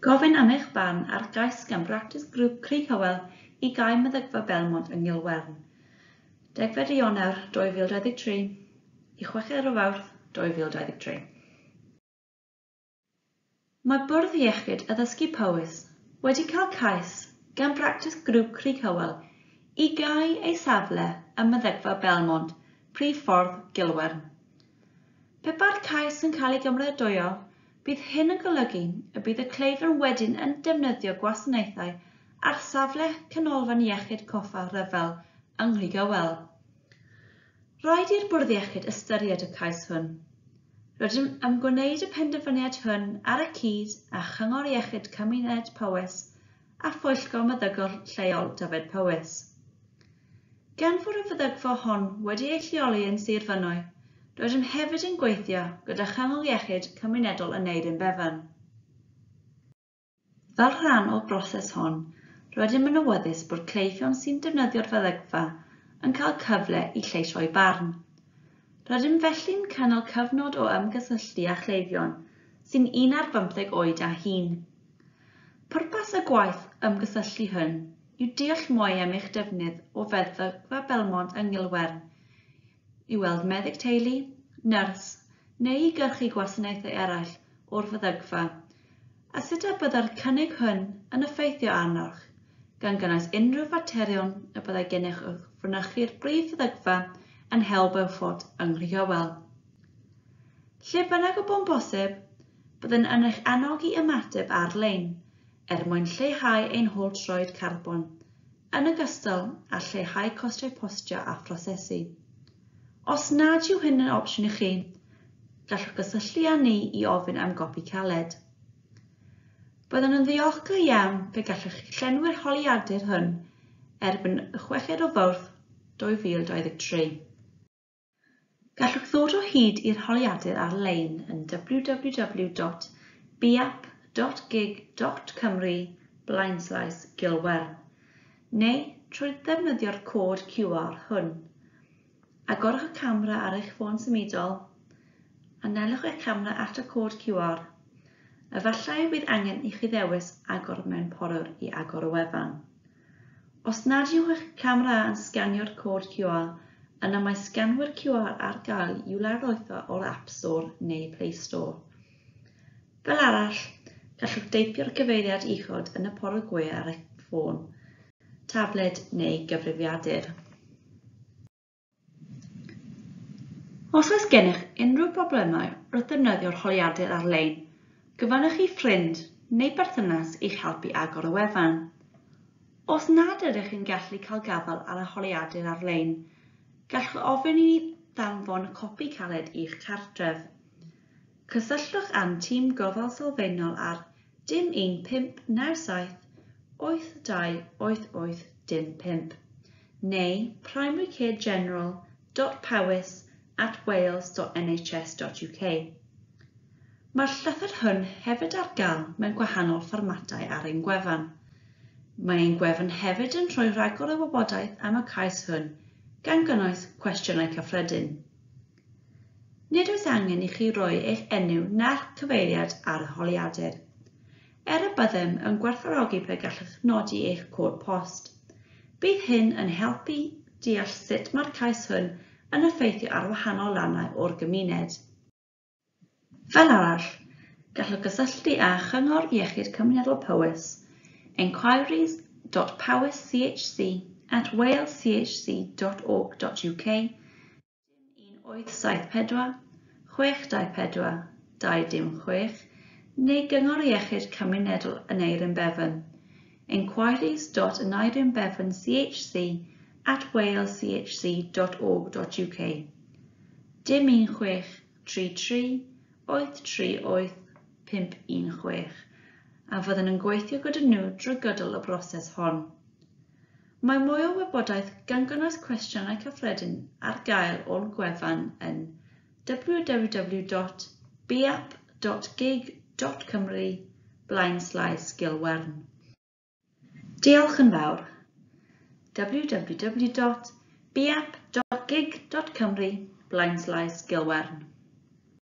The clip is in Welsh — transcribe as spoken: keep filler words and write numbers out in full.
Gofyn am eich barn ar gais gan Bractis Grŵp Crug Hywel i gau meddygfa Belmont yng Ngilwern. Degfed Ionawr dwy fil dau ddeg tri i chweched o Fawrth dwy fil dau ddeg tri. Mae Bwrdd Iechyd Addysgu Powys wedi cael cais gan Bractis Grŵp Crug Hywel i gau ei safle ym Meddygfa Belmont, prif ffordd Gilwern. Pe bai'r cais yn cael ei gymeradwyo, bydd hyn yn golygu y bydd y cleifion wedyn yn defnyddio gwasanaethau ar safle Canolfan Iechyd Coffa Rhyfel yng Nghrughywel. Rhaid i'r Bwrdd Iechyd ystyried y cais hwn. Rydym am gwneud y penderfyniad hwn ar y cyd â Chyngor Iechyd Cymuned Powys a Phwyllgor Meddygol Lleol Dyfed Powys. Gan fod y feddygfa hon wedi ei lleoli yn Sir Fynwy, rydym hefyd yn gweithio gyda Chyngor Iechyd Cymunedol Aneurin Bevan. Fel rhan o'r broses hon, rydym yn awyddus bod cleifion sy'n defnyddio'r feddygfa yn cael cyfle i lleisio'u barn. Rydym felly'n cynnal cyfnod o ymgysylltu â chleifion sy'n un ar bymtheg oed a hŷn. Pwrpas y gwaith ymgysylltu hwn yw deall mwy am eich defnydd o feddygfa Belmont yng Ngilwern, i weld meddyg teulu, nyrs neu i gyrchu gwasanaethau eraill o'r feddygfa, a sut y byddai'r cynnig hwn yn effeithio arnoch, gan gynnwys unrhyw faterion y byddai gennych wrth fynychu'r brif feddygfa yn Heol Beaufort yng Nghrughywel. Lle bynnag y bo'n bosib, byddwn yn eich annog i ymateb ar-lein er mwyn lleihau ein hôl troed carbon, yn ogystal â lleihau costau postio a phrosesu. Os nad yw hyn yn opsiwn i chi, gallwch gysylltu â ni i ofyn am gopi caled. Byddwn yn ddiolchgar iawn pe gallwch chi llenwi'r holiadur hwn erbyn y chweched o Fawrth dwy fil dau ddeg tri. Gallwch ddod o hyd i'r holiadur ar-lein yn w w w dot biap dot gig dot cymru blaenslaes Gilwern neu trwy ddefnyddio'r cod Q R hwn. Agorwch y camera ar eich ffôn symudol, anelwch eich camera at y cod Q R. Efallai y bydd angen i chi ddewis agor mewn porwr i agor y wefan. Os nad yw eich camera yn sganio'r cod Q R, yna mae sganwyr Q R ar gael i'w lawrlwytho o'r App Store neu Play Store. Fel arall, gallwch deipio'r cyfeiriad uchod yn y porwr gwe ar eich ffôn, tabled neu gyfrifiadur. Os oes gennych unrhyw broblemau wrth ddefnyddio'r holiadur ar-lein, gofynnwch i ffrind neu berthynas i'ch helpu agor y wefan. Os nad ydych yn gallu cael gafael ar y holiadur ar-lein, gallwch ofyn i ni ddanfon copi caled i'ch cartref. Cysylltwch â'n tîm gofal sylfaenol ar dim un pump naw saith wyth dau wyth wyth dim pump neu primary care general dot powys at wales dot n h s dot u k. Mae'r llythyr hwn hefyd ar gael mewn gwahanol fformatau ar ein gwefan. Mae ein gwefan hefyd yn rhoi rhagor o wybodaeth am y cais hwn, gan gynnwys cwestiynau cyffredin. Nid oes angen i chi roi eich enw na'r cyfeiriad ar y holiadur. Er y byddem yn gwerthfawrogi pe gallwch nodi eich cod post. Bydd hyn yn helpu deall sut mae'r cais hwn yn effeithio ar wahanol rannau o'r gymuned. Fel arall, gallwch gysylltu â Chyngor Iechyd Cymunedol Powys, enquiries dot powys c h c at wales c h c dot org dot u k, dim un wyth saith pedwar, chwech dau pedwar, dau dim chwech, neu Gyngor Iechyd Cymunedol Aneurin Bevan, enquiries dot aneurin bevan c h c at wales c h c dot org dot u k, dim un chwech tri tri wyth tri wyth pump un chwech, a fyddwn yn gweithio gyda nhw drwy gydol y broses hon. Mae mwy o wybodaeth gan gynnwys cwestiynau cyffredin ar gael o'n gwefan yn w w w dot biap dot gig dot cymru blaenslaes Gilwern. Diolch yn fawr. w w w dot biap dot gig dot cymru blaenslaes Gilwern.